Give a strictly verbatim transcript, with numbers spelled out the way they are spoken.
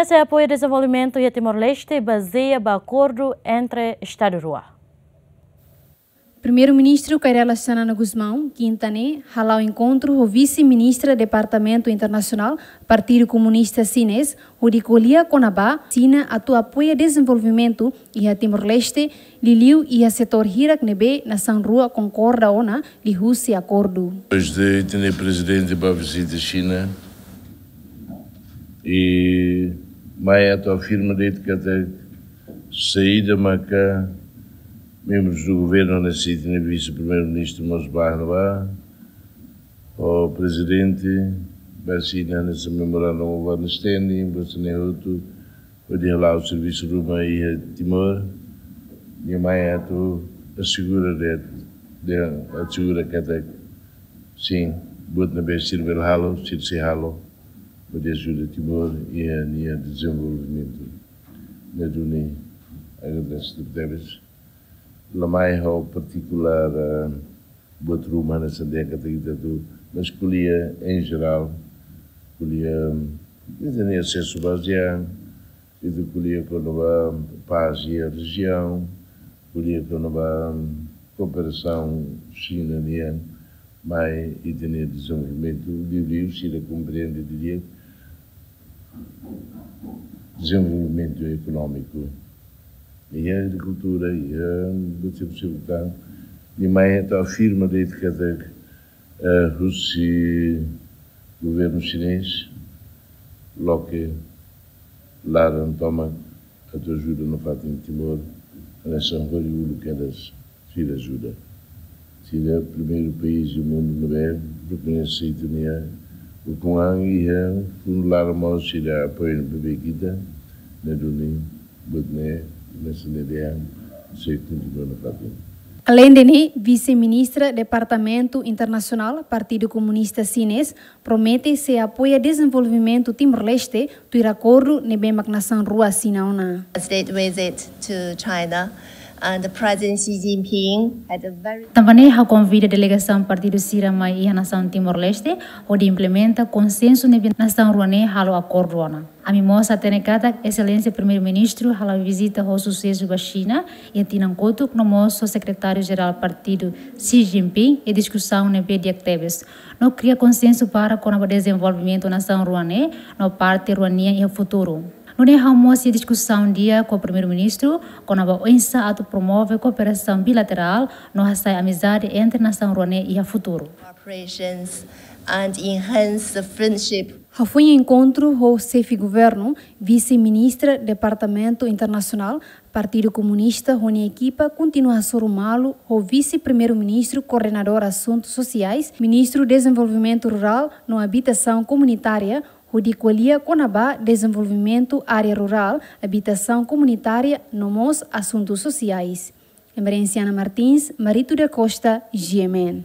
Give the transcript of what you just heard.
Ese apoiu dezenvolvimentu iha Timor-Leste bazeia ba akordu entre Estadu rua. Primeiru-Ministru Kay Rala Xanana Gusmão, kinta ne'e, hala'o enkontru ho Vise-Ministra Departamentu Internasionál Partidu Komunista Xinés, hodi ko'alia kona-ba Xina atu apoia dezenvolvimentu iha Timor-Leste, liuliu iha setór hirak ne'ebé nasaun rua konkorda ona liuhusi akordu. Depois de ter Prezidente ba vizita Xina, i mai atu afirma de'it katak saida maka membru do governu ne'e sei, Vise-Primeiru-Ministru mós ba ne'ebá, o Prezidente ba Xina hanesan memorandum of understanding, ba sene hotu, hodi hala'o servisu ruma iha Timor, nia mai atu asegura de'it, dehan asegura katak sin, buat ne'ebé sira bele halo, sira sei halo, hodi ajuda Timor iha nia dezenvolvimentu. Ne'e duni agradese tebes. La mai ha'u partikulár, eh, buat ruma hanesan dehan katak ita atu, mas ko'alia em geral, ko'alia, ita-nia asesu bazeia, ita ko'alia kona-ba pás iha rejiaun, ko'alia kona-ba kooperasaun Xina nian, mai ita-nia dezenvolvimentu, liuliu sira komprende didi'ak dezenvolvimentu ekonómiku. Iha agrikultura, iha betul-betul tan. Nia mai atu afirma de'it katak, eh, husi governu xinés, loke laran tomak atu ajuda nafatin Timor, hanesan hori uluk kedas sira ajuda. Sira primeiru país do mundo ne'ebé rekoñese ita-nia ukun-an iha fundu laran mós sira apoia ne'ebé ita, ne'e duni buat ne'e, hanesan dehan, sei kontinua nafatin. Aleinde ne'e, Vise-Ministra Departamentu Internasionál Partidu Komunista Xinés promete sei apoia dezenvolvimentu Timor-Leste tuir akordu ne'ebé mak nasaun rua asina ona. State visit to China and the President Xi Jinping had a very Tanba ne'e ha'u konvida delegasaun partidu sira mai iha nasaun Timor-Leste, hodi implementa konsensu ne'ebé nasaun rua ne'e halo akordu ona. Ami mós hatene katak Exelénsia Primeiru-Ministru hala'o vizita ho susesu ba Xina iha tinan kotuk, no mós ho Sekretáriu Jerál Partidu Xi Jinping, i diskusaun ne'ebé di'ak tebes. No kria konsensu para kona-ba dezenvolvimentu nasaun rua ne'e, no parte rua nian iha futuru. Nune'e ha'u mós iha diskusaun di'ak ho Primeiru-Ministru kona-ba oinsá atu promove kooperasaun bilaterál, no hasa'e amizade entre nasaun rua ne'e iha futuru. Cooperations and enhance the friendship. Hafoin enkontru ho Xefe Governu, Vise-Ministra Departamentu Internasionál Partidu Komunista ho nia ekipa kontinua hasoru malu ho Vise-Primeiru-Ministru Koordenadór Asuntu Sosiais, Ministru Dezenvolvimentu Rurál no Abitasaun Komunitária, hodi ko'alia kona-ba dezenvolvimentu área rurál, abitasaun komunitária, no mós asuntu sosiais. Emerenciana Martins, Marito da Costa, G M N.